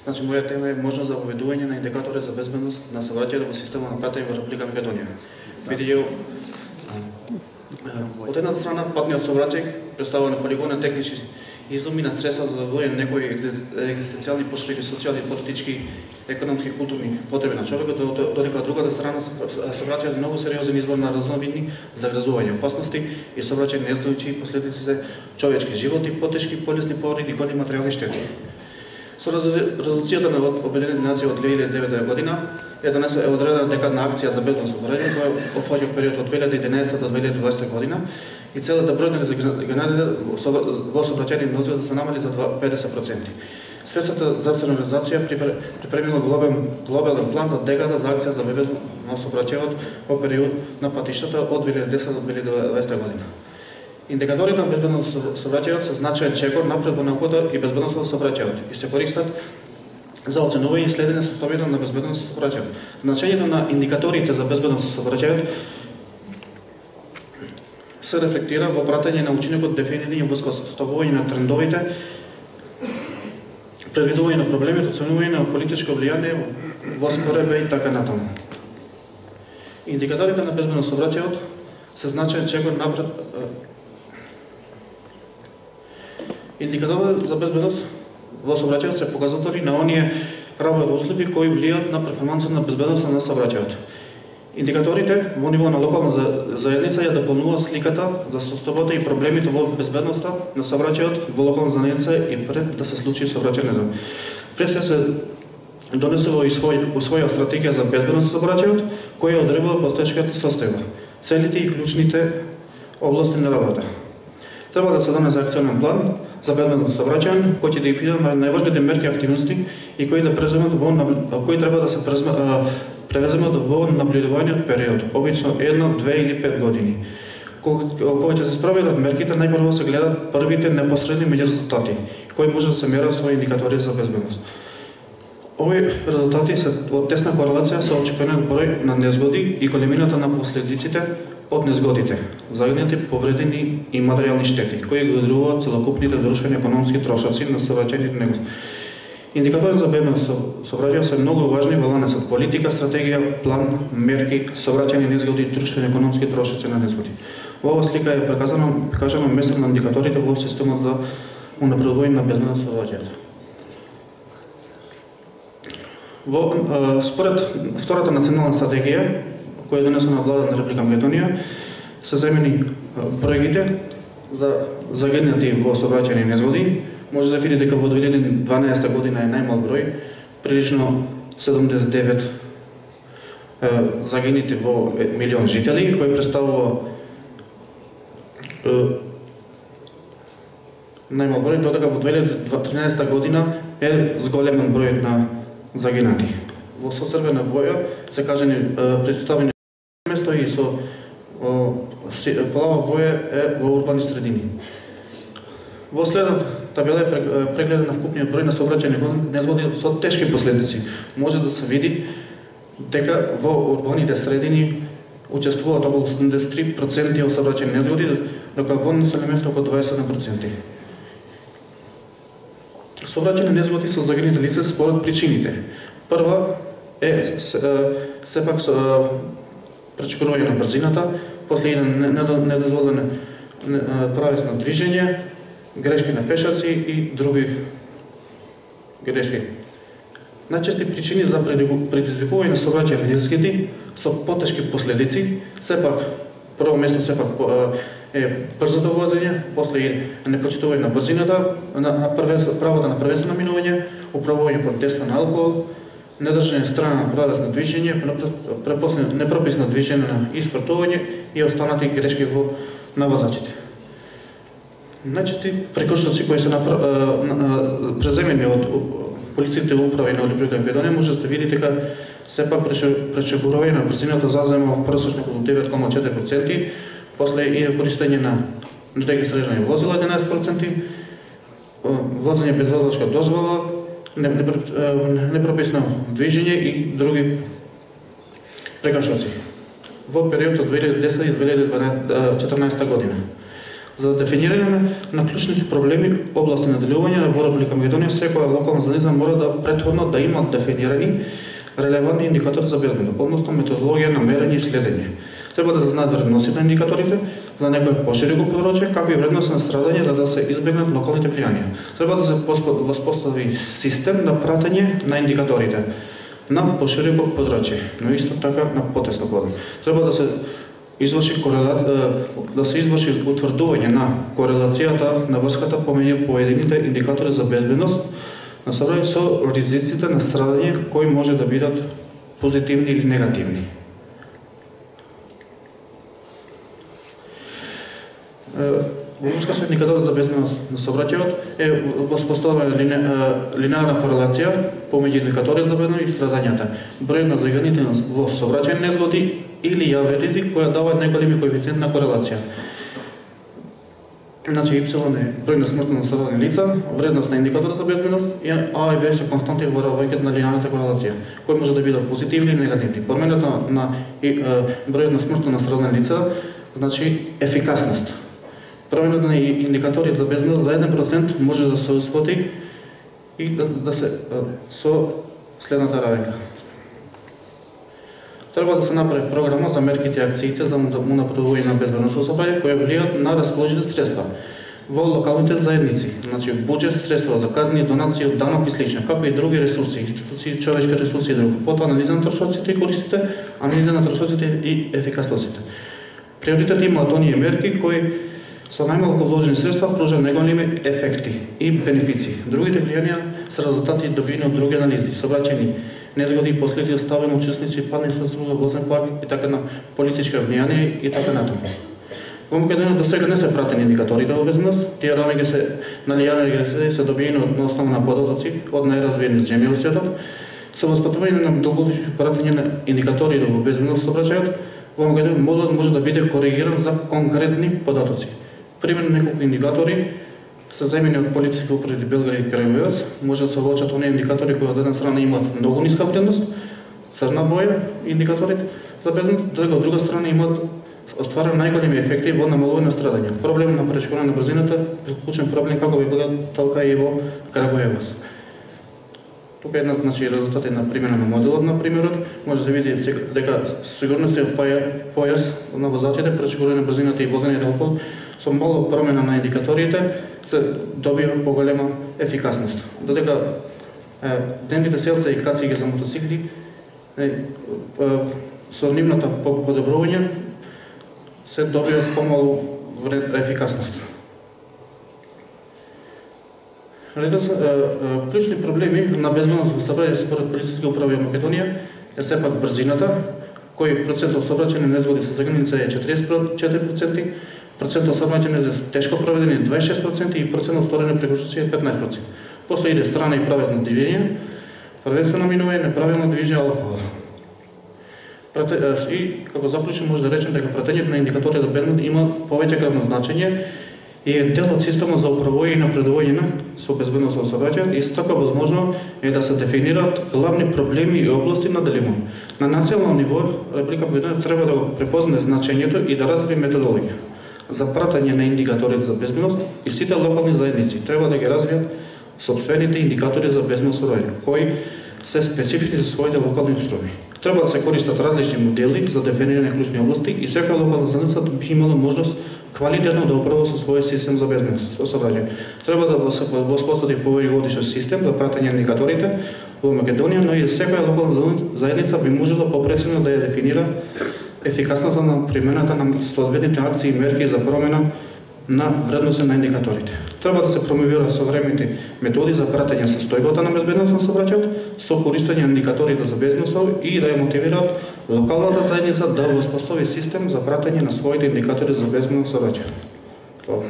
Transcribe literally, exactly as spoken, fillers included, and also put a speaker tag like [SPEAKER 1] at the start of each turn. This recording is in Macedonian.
[SPEAKER 1] Значи, моја тема е можност за воведување на индикатори за безбедност на сообраќајот во система на патење во Република Македонија. Бидејќи од една страна патниот сообраќај представува на полигон технички изуми на средства за задоволување на некои екзистенцијални потребни, социјални, политички, економски, културни потреби на човекот, додека од другата страна сообраќајот е многу сериозен извор на разновидни загрозување, опасности и сообраќај неслучи последици за човечки животи, потешки, полесни повреди и големи материјални штети. Со резолуцијата на Обединените нации од две илјади и девета година е донесена е одредена декадна акција за безбедност во регионот, која опфаќа период од две илјади и единаесета до две илјади и дваесета година и целата бројка на загинатите во сообраќајни нозби да се намали за педесет проценти. Светската здравствена организација припремила глобален, глобален план за декада за акција за безбедност на сообраќајот во период на патиштата од две илјади и десета до две илјади и дваесета година. Индикаторите на безбедност на сообраќајот се значаен чекор напред во науката и безбедноста на сообраќајот и се користат за оценување и следење состојбата на безбедност на сообраќајот. Значењето на индикаторите за безбедност на сообраќајот се рефлектира во пратење на учинокот, дефинирање во составување на трендовите, предвидување на проблемите, оценување на политичко влијание во споредба и така натаму. Индикаторите на безбедност на сообраќајот се значаен чекор напред. Индикаторите за безбедност во сообраќајот се показатели на оние работни услови кои влијаат на перформансата на безбедноста на сообраќајот. Индикаторите во ниво на локална заедница ја дополнуваат сликата за состојбата и проблемите во безбедноста на сообраќајот во локална заедница и пред да се случи сообраќајен. Пред се се донесува и своја стратегија за безбедност на сообраќајот, која одредува постоечката состојба, целите и клучните области на работа. Треба да се донесе акционен план за безбедност на сообраќајот, кој ќе дефинира најважните мерки и активности и кои да преземат во кои треба да се превеземат во наблюдуваниот период, обично едно, две или пет години. Кога ќе се спроведат мерките, најпрво се гледат првите непосредни меѓу резултати, кои може да се мерат со индикатори за безбедност. Овие резултати се од тесна корелација со очекуваниот број на незгоди и големината на последиците од незгодите, загинати, повредени и материјални штети, кои го одржуваат целокупните друштвени економски трошоци на сообраќајните негост. Индикаторите за безбедност на сообраќајот се многу важни во ланецот политика, стратегија, план, мерки, сообраќајни незгоди и друштвени економски трошоци на незгоди. Во оваа слика е прикажано, прикажано место на индикаторите во системот за унапредување на безбедност на сообраќајот. Во според втората национална стратегија, која е донесена од владата на Република Македонија, се замени бројките за загинати во сообраќајни незгоди. Може да види дека во две илјади и дванаесета година е најмал број, прилично седумдесет и девет е, загинати во милион жители, кој представува е, најмал број, додека во две илјади и тринадесета година е зголемен број на загинати. Во со црвена боја се кажани представени место и со плава боја е во урбани средини. Во следната табела е прегледен на вкупниот број на сообраќајни незгоди со тешки последици. Може да се види дека во урбаните средини учествуваат околу седумдесет и три проценти од сообраќајни незгоди, докато во населени места околу дваесет и седум проценти. Сообраќајни незгоди со загинати лица според причините. Прва е сепак пречекорување на брзината, после иде недозволено правец на движење, грешки на пешаци и други грешки. Најчести причини за предизвикување на сообраќајни незгоди со потешки последици, сепак прво место сепак е брзото возење, после е непочитување на брзината, на правото на првенствено минување, управување под действие на алкохол, недржање страна на правец на движење, непрописно движење на испратување и останати грешки во на возачите. Најчести прекршоци кои се преземени од полицијите управи на Република Македонија, може да се види дека сепак пречекорување на брзината зазема просечно околу девет зарез и четири проценти, после и користење на регистрирани возила единаесет проценти, возење без возачка дозвола, непрописно движење и други прекршоци во период од две илјади и десета и две илјади и четрнаесета година. За дефинирање на клучните проблеми области на делување во Република Македонија, секоја локална заедница мора да претходно да има дефинирани релевантни индикатори за безбедност, односно методологија на мерење и следење. Треба да се знаат вредностите на индикаторите за некој пошироко подрачје, како и вредност на страдање за да се избегнат локалните влијанија. Треба да се воспостави систем на пратење на индикаторите на пошироко подрачје, но исто така на потесно подрачје. Треба да се изврши корелација, да се изврши утврдување на корелацијата на врската помеѓу поедините индикатори за безбедност на сообраќај со ризиците на страдање кои може да бидат позитивни или негативни. Во врска со индикатор за безбедност на сообраќајот е воспоставена линеарна корелација помеѓу индикатори за безбедност и страдањата. Бројот на загинатите во сообраќајни незгоди или јавен ризик која дава најголеми коефициент на корелација. Значи Y е број на смртно настрадани лица, вредност на индикатор за безбедност и А и Б се константи во раѓањето на линеарната корелација, кои може да бидат позитивни или негативни. Промената на бројот на смртно настрадани лица значи ефикасност. Промената на индикатори за безбедност за еден процент може да се усвои и да, да се со следната рака. Треба да се направи програма за мерките и акциите за унапредување на безбедност во сообраќај кои влијаат на расположените средства во локалните заедници, значи буџет, средства за казни, донации од данок и слично, како и други ресурси, институции, човечки ресурси и друго. Потоа анализа на трошоците и користите, анализа на трошоците и ефикасноста. Приоритет имаат оние мерки кои со најмалку вложени средства пружа најголеми ефекти и бенефиции. Другите влијанија се резултати добиени од други анализи, сообраќајни незгоди, последици оставени учесници, падна инфраструктура, возен парк и така на политичка влијание и така натаму. Во Македонија до сега не се пратени индикаторите во безбедност, тие рамки се налијани регресии се добиени на основа на податоци од најразвиени земји во светот. Со воспатување на долгогодишни пратење на индикаторите во безбедност сообраќајот, во Македонија модулот може да биде коригиран за конкретни податоци. Примерно неколку индикатори се земени од полициски управи Белград и Крајевец, може да се влочат оние индикатори кои од една страна имаат многу ниска вредност, црна боја индикаторите за безбедност, додека од друга страна имаат остварени најголеми ефекти во намалување на страдање. Проблем на пречкување на брзината, клучен проблем како во Белград, така и во Крајевец. Тука една значи резултати на примена на моделот на примерот, може да се види дека сигурноста појас на возачите, пречкување на брзината и возење на алкохол со мало промена на индикаторите се добива поголема ефикасност. Додека денните селца и кацigi за мотоцикли со нивната подобрување се добива помалу ефикасност. Клучни проблеми на безбедност во сообраќај според полициски управи во Македонија е сепак брзината, кој процент од сообраќајни незгоди со загинати е четириесет и четири проценти, процент од сообраќајни за тешко проведени е дваесет и шест проценти и процент од сторени прекршоци е петнаесет проценти. После иде страна и правесно движење, првенствено минување, неправилно движење алкохол. И како заклучок може да речем дека пратењето на индикатори за безбедност има повеќе главно значење и е дел од системот за управување и напредување со безбедност во сообраќајот и исто така возможно е да се дефинираат главни проблеми и области на делување. На национално ниво Република Македонија треба да го препознае значењето и да развие методологија за пратење на индикатори за безбедност и сите локални заедници треба да ги развијат сопствените индикатори за безбедност сообраќај, кои се специфични за своите локални устрови. Треба да се користат различни модели за дефинирање клучни области и секоја локална заедница би имала можност квалитетно да управува со својот систем за безбедност во сообраќај. Треба да се воспостави повеќегодишен систем за пратење на индикаторите во Македонија, но и секоја локална заедница би можела попрецизно да ја дефинира ефикасноста на примената на соодветните акции и мерки за промена на вредноста на индикаторите. Треба да се промовираат современите методи за пратење состојбата на безбедност на сообраќајот со користење на индикаторите за безбедност и да ја мотивираат локалната заедница да воспостави систем за пратење на своите индикатори за безбедност на сообраќајот.